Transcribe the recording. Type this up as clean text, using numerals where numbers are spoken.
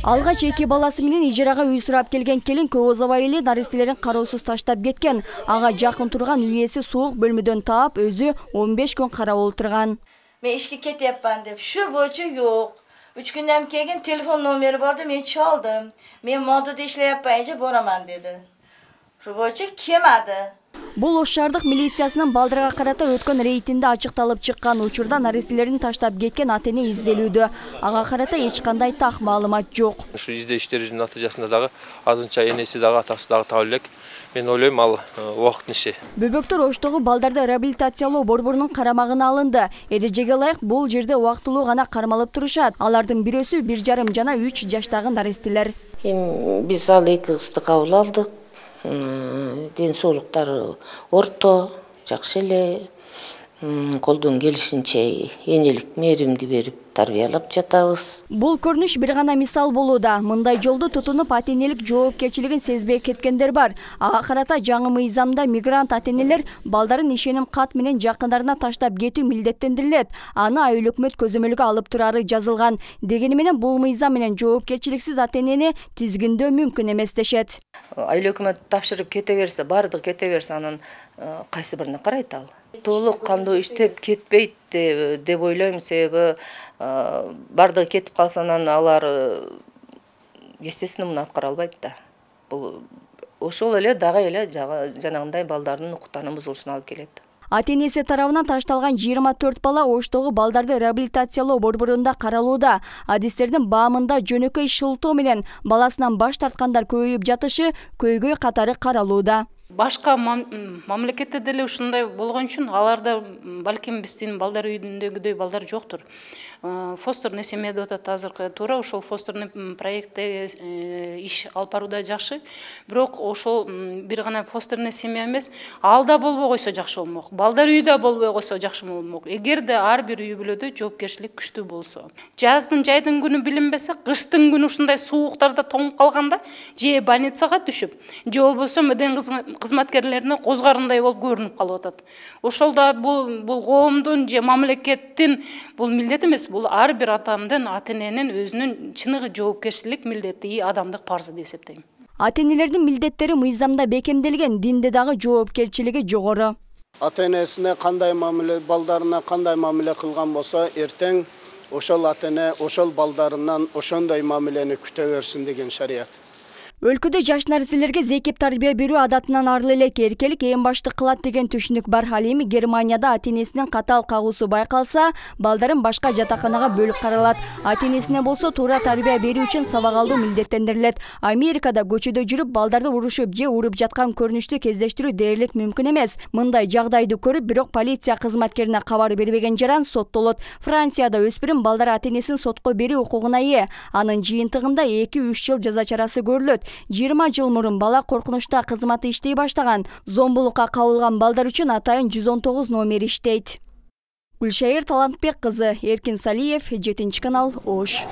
Алгач эки баласы менен ижарага үй сурап келген келин көп узабай эле наристелерин кароосуз таштап кеткен. Ага жакын турган үй ээси суук бөлмөдөн таап, өзү 15 күн карап олтурган. Мен ишке кетепмин деп, şu боюнча жок. 3 күндөн кийин телефон номери барды, мен чалдым. Мен модада иштеп бораман деди. Şu боюнча келмеди. Бул Ош шаардык милициясынын балдарга карата өткөн рейдинде ачыкталып чыккан учурда наристелерин таштап кеткен ата-эне изделүүдө. Ага карата эч кандай так маалымат жок. Ушу издештерибиздин натыйжасында дагы азынча энеси дагы атасы дагы таба элек. Мен ойлойм ал убакыттын иши. Бөбөктөр Оштогу балдарды реабилитациялоо борборунун карамагына алынды. Эрежеге ылайык бул жерде убактылуу гана кармалып турушат. Алардын бирөөсү 1,5 жана 3 жаштагы наристелер. Биз ал эки кызды кабыл алдык. Ден соолуктары орто, жакшы эле. Колдон келишинче энелик мээримди берип тарбиялап жатабыз. Бул көрүнүш бир гана мисал болууда. Мындай жолду тутунуп ата-энелик жоопкерчилигин сезбей кеткендер бар. Ага карата жаңы мыйзамда мигрант ата-энелер балдарын ишеним кат менен жакындарына таштап кетүү милдеттендирилет. Аны айыл өкмөт көзөмөлгө алып турары жазылган. Дегени менен бул мыйзам менен жоопкерчиликсиз ата-энени тизгиндөө мүмкүн эмес дешет. Айыл өкмөт тапшырып кете берсе, бардыгы кете берсе, анын кайсы бирине карайт ал? Толук кандуу иштеп кетпейт деп ойлойм, себеби бардыгы кетип калса анан алар естественно муну аткара албайт да. Бул ошол эле дагы эле жанагындай балдардын укуктарынын бузулушуна алып келет. Ата-энеси тарабынан ташталган 24 бала Оштогу балдарды реабилитациялоо борборунда каралууда. Адистердин баамында жөнөкөй шылтоо менен баласынан баш тарткандар көбөйүп жатышы көйгөй катары каралууда. Башка мамлекетте деле ушундай болгон үчүн аларда балким биздин балдар үйүндөгүдөй балдар жоктур. Фостерный семья деп атат азыркы туура ошол фостерный проектте иш алып барууда жакшы. Бирок ошол бир гана фостерный семья эмес, алда болбой койсо жакшы болмок. Балдар үйү да болбой койсо жакшы болмок. Эгерде ар бир үй бүлөдө жоопкерчилик күчтүү болсо. Жайдын күнү билинбесе, кыштын күнү ушундай сууктарда тоңуп калганда же больницага түшүп, же болбосо меден кызматкерлерине козгарындай болуп көрүнүп калып атат. Ошолда бул коомдун же мамлекеттин бул милдети эмес, бул ар бир атамдын, ата-эненин өзүнүн чыныгы жоопкерчилик милдети, адамдык парзы деп эсептейм. Ата-энелердин милдеттери мыйзамда бекемделген, динде дагы жоопкерчилиги жогору. Ата-энесине кандай мамиле, балдарына кандай мамиле кылган болсо, эртең ошол ата-эне ошол балдарынан ошондой мамилени күтө берсин деген шарият. Өлкөдө жаш нариселерге зекип тарбия берүү адатынан арылы элек, эркелик эң башты кылат деген түшүнүк бар. Ал эми Германияда ата-энесинин катаал кагуусу байкалса, балдарын башка жатаканага бөлүп каралат. Ата-энесине болсо туура тарбия берүү үчүн сабак алуу милдеттендирилет. Америкада көчөдө жүрүп балдарды урушуп же уруп жаткан көрүнүштү кездештирүү дээрлик мүмкүн эмес. Мындай жагдайды көрүп, бирок полиция кызматкерине кабар бербеген жаран соттолот. Францияда өспүрүм балдар ата-энесин сотко берүү укугуна ээ. Анын жыйынтыгында 2-3 жыл жаза чарасы көрүлөт. 20 жыл мурун бала коркунучта кызматы иштей баштаган. Зомбулукка кабылган балдар үчүн атайын 119 номер иштейт. Гүлшайыр Талантбек кызы, Эркин Салиев, 7 канал, Ош.